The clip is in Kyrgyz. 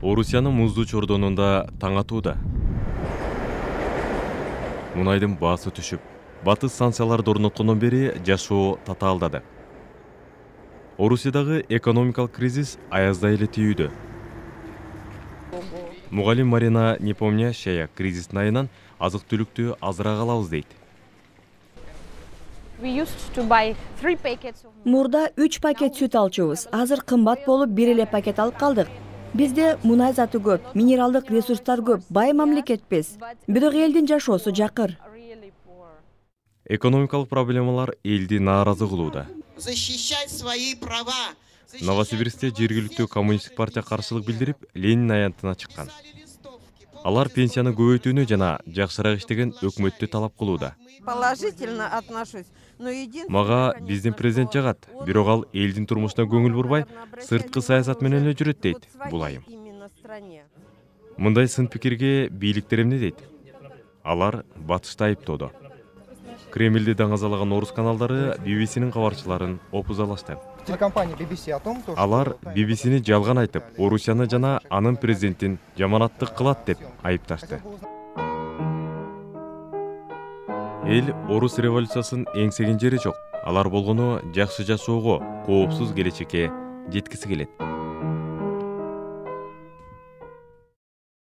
Орусиянын муздуу чордонунда таң атууда. Мунайдын баасы түшүп, батыс станцияларды орноткондон бери жашоо татаалдады. Орусиядагы экономикалык кризис аяздай эле тийүүдө. Мугалим Марина Непомнящая кризистин айынан азык-түлүктү азыраак алабыз дейт. Мурда 3 пакет сүт алчубуз. Азыр кымбат болуп, бир эле пакет алып калдык. Бизде мунай заты көп, минералдык ресурстар көп, бай мамлекетпиз. Бирок элдин жашоосу жакыр. Экономикалык проблемалар элди нааразы кылууда. Новосибирскте жергиликтүү коммунисттик партия каршылык билдирип, Ленин аянтына чыккан. Алар пенсияны көбөйтүүнү жана жакшыраак иштеген өкмөттү талап кылууда. Положительно отношусь. Мага биздин президент жагат, бирок ал элдин турмушуна көңүл бурбай, сырткы саясат менен эле жүрөт дейт бул айым. Мындай сын пикирге бийликтер эмне дейт? Алар батышты айыптоодо. Кремлди даңазалаган орус каналдары BBC'нин кабарчыларын опузалашты. Телекомпания BBC о том, что Алар BBC'ни жалган айтып, Орусияны жана анын президентин жаманаттык кылат деп айыпташты. Эл орус революциясын эңсеген жери жок. Алар болгону жакшы жашоого, коопсуз келечекке жеткиси келет.